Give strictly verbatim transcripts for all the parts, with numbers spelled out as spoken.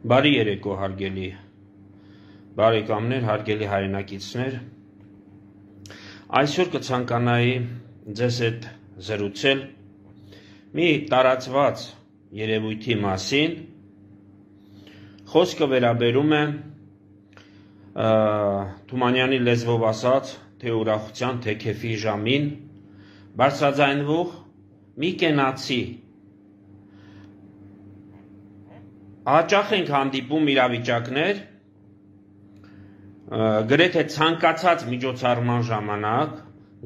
Բարի երեկո հարգելի բարեկամներ, հարգելի հայրենակիցներ, այսօր կցանկանայի ձեզ հետ զրուցել մի տարածված երևույթի մասին, խոսքը վերաբերում է Թումանյանի լեզվով ասած, թե ուրախության, թե քեֆի ժամին բարձրաձայնվող մի կենացի հաճախ ենք հանդիպում իրավիճակներ, գրեթե ցանկացած միջոցառման ժամանակ,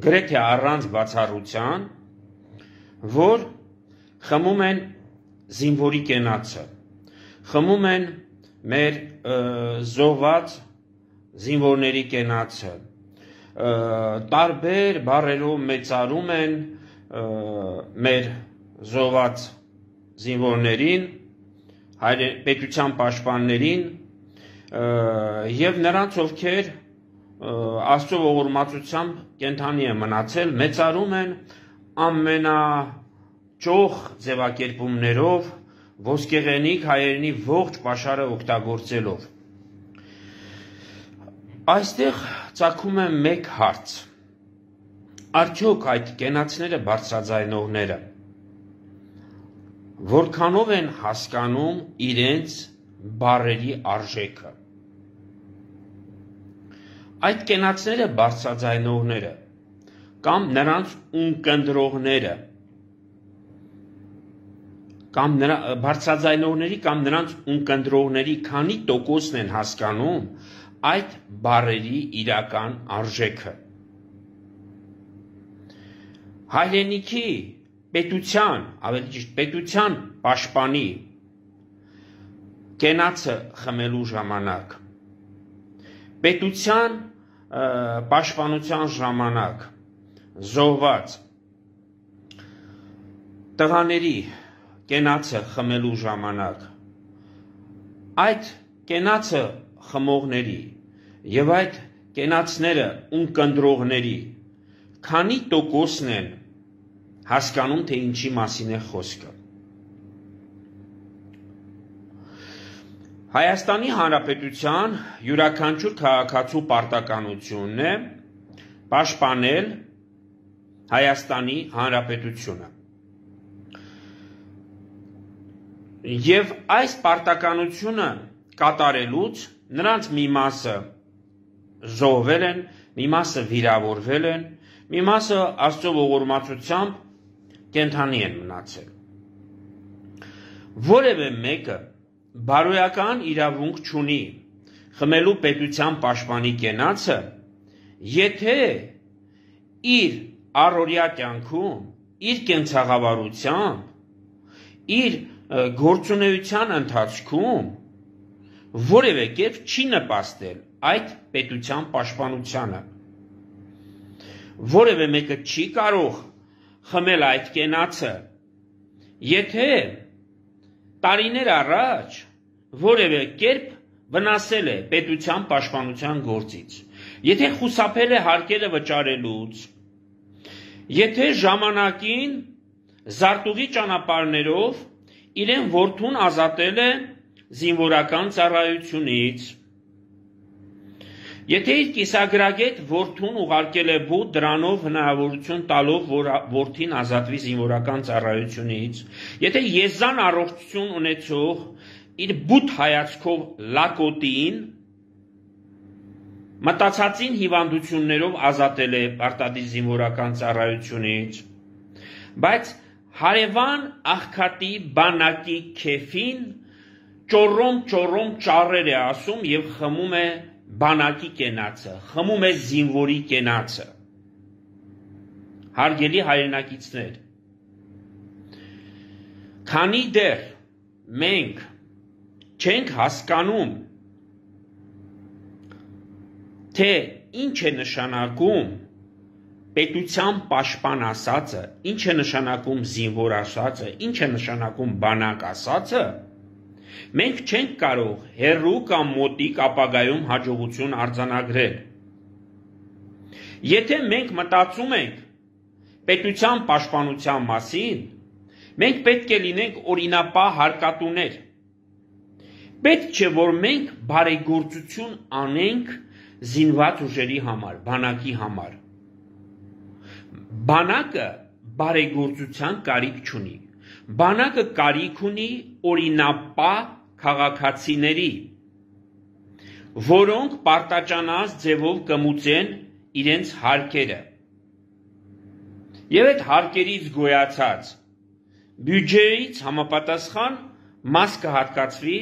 գրեթե առանց բացառության, որ խմում են զինվորի կենացը, խմում են մեր զոհված զինվորների կենացը, տարբեր բառերով մեծարում են մեր զոհված զինվորներին, պետության պաշտպաններին և նրանց, ովքեր Աստծո ողորմածությամբ կենդանի են մնացել, մեծարում են ամենաճոխ ձևակերպումներով, ոսկեղենիկ հայերենի ողջ պաշարը օգտագործելով։ Այստեղ ծագում է մեկ հարց. արդյոք այդ կենացները բարձրաձայնողները որքանով են հասկանում իրենց բառերի արժեքը։ Այդ կենացները բարձրաձայնողները կամ նրանց ունկնդրողները կամ բարձրաձայնողների կամ նրանց ունկնդրողների քանի տոկոսն են հասկանում այդ բառերի իրական արժեքը։ Հայրենիքի պետության, ավելի ճիշտ պետության պաշտպանի կենացը խմելու ժամանակ, պետության պաշտպանության ժամանակ զոհված տղաների կենացը խմելու ժամանակ, այդ կենացը խմողների և այդ կենացները ունկնդրողների քանի տոկոսն են հասկանում, թե ինչի մասին է խոսքը։ Հայաստանի Հանրապետության յուրաքանչյուր քաղաքացու պարտականությունն է պաշտպանել Հայաստանի Հանրապետությունը։ Եվ այս պարտականությունը կատարելուց նրանց մի մասը զոհվել են, մի մասը վիրավորվել են, մի մասը Աստծո ողորմածությամբ կենդանի են մնացել։ Որևէ մեկը բարոյական իրավունք չունի խմելու պետության պաշտպանի կենացը, եթե իր առօրյա կյանքում, իր կենցաղավարությամբ, իր գործունեության ընթացքում որևէ կերպ չի նպաստել այդ պետության պաշտպանությանը։ Որևէ մեկը չի կարող խմել այդ կենացը, եթե տարիներ առաջ որևէ կերպ վնասել է պետության պաշտպանության գործից, եթե խուսափել է հարկերը վճարելուց, եթե ժամանակին զարտուղի ճանապարհներով իրեն որդուն ազատել է զինվորական ծառայությունից, եթե իր կիսագրագետ որդուն ուղարկել է բուդ դրանով հնարավորություն տալով, որ որդին ազատվի զինվորական ծառայությունից, եթե եզան առողջություն ունեցող իր բութ հայացքով լակոտին մտածածին հիվանդություններով ազատել է պարտադիր զինվորական ծառայությունից, բայց հարևան աղքատի բանակի քեֆին ճոռոմ-ճոռոմ ճառեր է ասում և խմում է բանակի կենացը, խմում է զինվորի կենացը։ Հարգելի հայրենակիցներ, քանի դեռ մենք չենք հասկանում, թե ինչ է նշանակում պետության պաշտպան ասածը, ինչ է նշանակում զինվոր ասածը, ինչ է նշանակում բանակ ասածը, մենք չենք կարող հեռու կամ մոտիկ ապագայում հաջողություն արձանագրել։ Եթե մենք մտածում ենք պետության պաշտպանության մասին, մենք պետք է լինենք օրինապահ հարկատուներ, Պետք չէ, որ մենք բարեգործություն անենք զինված ուժերի համար, բանակի համար։ Բանակը բարեգործության կարիք չունի։ Բանակը կարիք ունի օրինապահ քաղաքացիների, որոնք պարտաճանած ձևով կմուծեն իրենց հարկերը։ Եվ այդ հարկերից գոյացած բյուջեից համապատասխան մաս կհատկացվի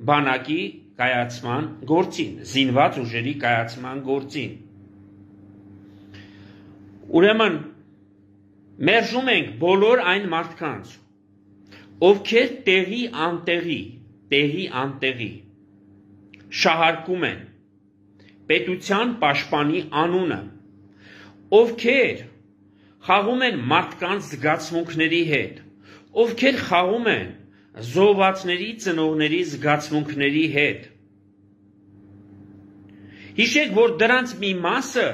բանակի կայացման գործին, զինված ուժերի կայացման գործին։ Ուրեմն մերժում ենք բոլոր այն մարդկանց, ովքեր տեղի անտեղի, տեղի անտեղի շահարկում են պետության պաշտպանի անունը, ովքեր խաղում են մարդկանց զգացմունքների հետ, ովքեր խաղում են զոհվածների ծնողների զգացմունքների հետ։ Հիշեք, որ դրանց մի մասը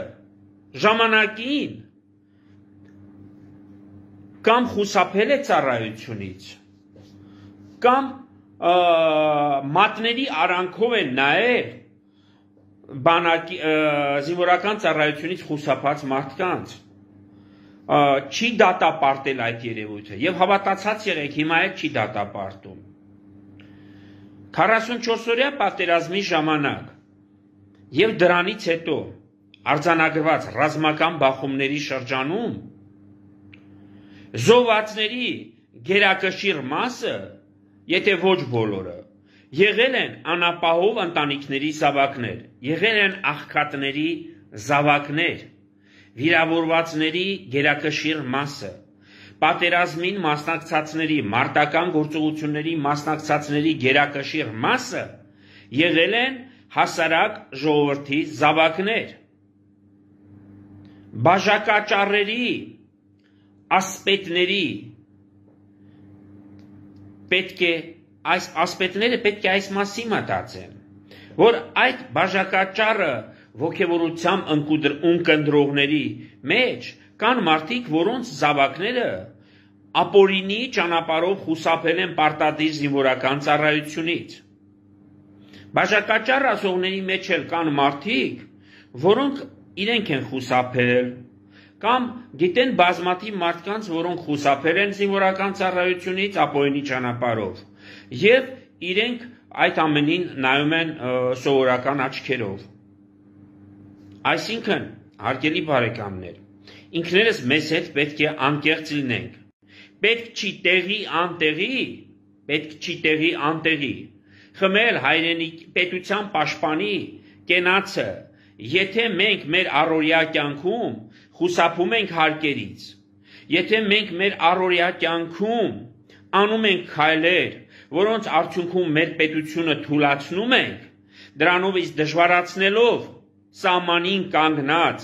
ժամանակին կամ խուսափել է ծառայությունից, կամ մատների արանքով են նայել բանակի զինվորական ծառայությունից խուսափած մարդկանց, չի դատապարտել այդ երևույթը եւ հավատացած եղեք, հիմա էլ չի դատապարտում։ քառասունչորս-օրյա պատերազմի ժամանակ եւ դրանից հետո արձանագրված ռազմական բախումների շրջանում զոհվածների գերակշիռ մասը, եթե ոչ բոլորը, եղել են անապահով ընտանիքների զավակներ, եղել են աղքատների զավակներ, վիրավորվածների գերակշիռ մասը, պատերազմին մասնակցածների, մարտական գործողությունների մասնակցածների գերակշիռ մասը եղել են հասարակ ժողովրդի զավակներ։ Բաժակաճառերի, ասպետների պետք է այս ասպետները պետք է այս մասի մտածեն, որ այդ բաժակաճառը ոգևորությամբ ընկնդրողների մեջ կան մարդիկ, որոնց զավակները ապօրինի ճանապարհով խուսափել են պարտադիր զինվորական ծառայությունից։ Բաժակաճառ ասողների մեջ էլ կան մարդիկ, որոնք իրենք են խուսափել, կամ գիտեն բազմաթիվ մարդկանց, որոնք խուսափել են զինվորական ծառայությունից ապօրինի ճանապարհով, եւ իրենք այդ ամենին նայում են սովորական աչքերով։ Այսինքն, հարգելի բարեկամներ, ինքներս մեզ հետ պետք է անկեղծ լինենք։ Պետք չի տեղի անտեղի, պետք չի տեղի անտեղի խմել հայրենիք պետության պաշտպանի կենացը, եթե մենք մեր առօրյա կյանքում խուսափում ենք հարկերից, եթե մենք մեր առօրյա կյանքում անում ենք քայլեր, որոնց արդյունքում մեր պետությունը թուլացնում ենք, դրանով իսկ դժվարացնելով սահմանին կանգնած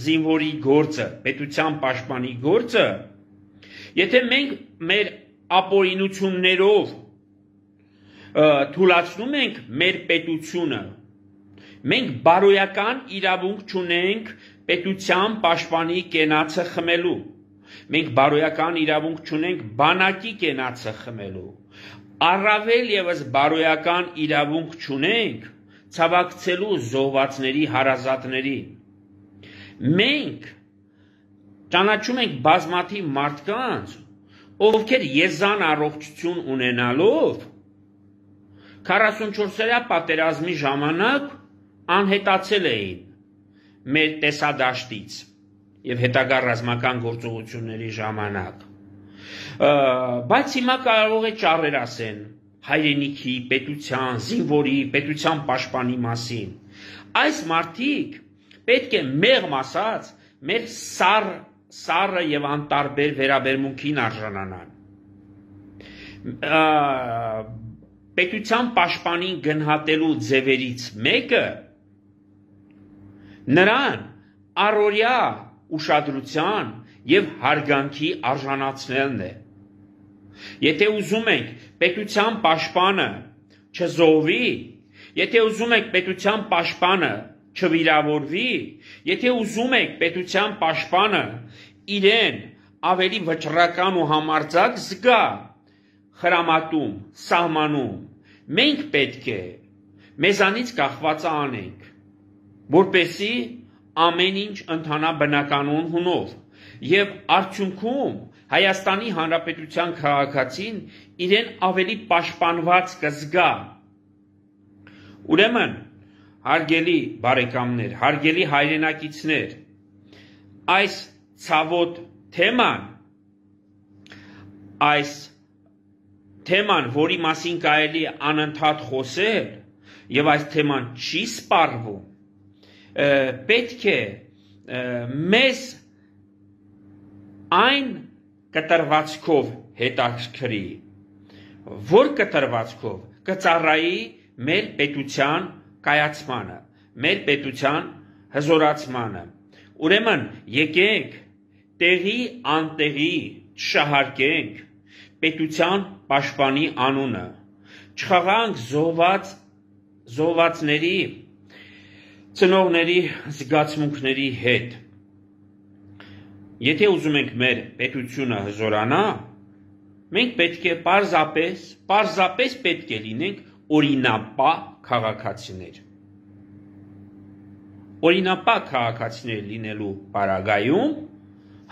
զինվորի գործը, պետության պաշտպանի գործը, եթե մենք մեր ապօրինություններով թուլացնում ենք մեր պետությունը, մենք բարոյական իրավունք չունենք պետության պաշտպանի կենացը խմելու, մենք բարոյական իրավունք չունենք բանակի կենացը խմելու, առավել ևս բարոյական իրավունք չունենք ցավակցելու զոհվածների հարազատներին։ Մենք ճանաչում ենք բազմաթիվ մարդկանց, ովքեր եզան առողջություն ունենալով քառասունչորսերյա պատերազմի ժամանակ անհետացել էին մեր տեսադաշտից եւ հետագա ռազմական գործողությունների ժամանակ, բայց հիմա կարող է ճառեր ասեն հայրենիքի, պետության, զինվորի, պետության պաշտպանի մասին։ Այս մարդիկ պետք է մեղմ ասած մեր սառ սառը եւ անտարբեր վերաբերմունքին արժանանան։ Պետության պաշտպանին գնահատելու ձևերից մեկը նրան առօրյա ուշադրության եւ հարգանքի արժանացնելն է։ Եթե ուզում ենք պետության պաշտպանը չզոհվի, եթե ուզում եք պետության պաշտպանը չվիրավորվի, եթե ուզում եք պետության պաշտպանը իրեն ավելի վճռական ու համարձակ զգա խրամատում, սահմանում, մենք պետք է մեզանից կախվածը անենք, որպեսզի ամեն ինչ ընթանա բնականon հունով եւ արդյունքում Հայաստանի Հանրապետության քաղաքացին իրեն ավելի պաշտպանված կզգա։ Ուրեմն, հարգելի բարեկամներ, հարգելի հայրենակիցներ, այս ցավոտ թեման, այս թեման, որի մասին կարելի է անընդհատ խոսել, եւ այս թեման չի սպառվում, պետք է մեզ այն կտրվածքով հետաքրքրի, որ կտրվածքով կծառայի մեր պետության կայացմանը, մեր պետության հզորացմանը։ Ուրեմն եկեք տեղի անտեղի չշահարկենք պետության պաշտպանի անունը, չխաղանք զոհված զոհվածների ծնողների զգացմունքների հետ։ Եթե ուզում ենք մեր պետությունը հզորանա, մենք պետք է պարզապես, պարզապես պետք է լինենք օրինապահ քաղաքացիներ։ Օրինապահ քաղաքացիներ լինելու պարագայում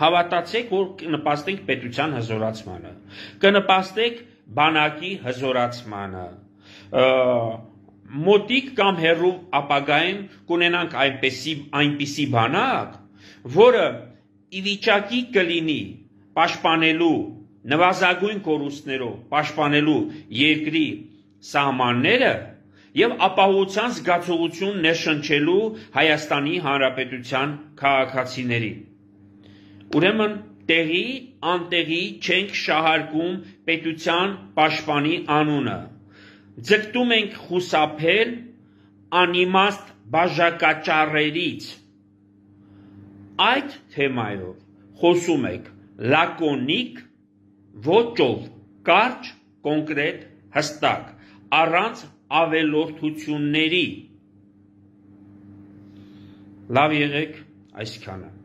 հավատացեք, որ կնպաստենք պետության հզորացմանը, կնպաստենք բանակի հզորացմանը, մոտիկ կամ հեռու ապագայում կունենանք այնպիսի, այնպիսի բանակ, որը ի վիճակի կլինի պաշտպանելու նվազագույն կորուստներով, պաշտպանելու երկրի սահմանները եւ ապահովության զգացողություն ներշնչելու Հայաստանի Հանրապետության քաղաքացիների։ Ուրեմն տեղի անտեղի չենք շահարկում պետության պաշտպանի անունը, ձգտում ենք խուսափել անիմաստ բաժակաճառերից։ Այդ թեմայով խոսում եք լակոնիկ ոճով, կարճ, կոնկրետ, հստակ, առանց ավելորդությունների։ Լավ եղեք այսքանը։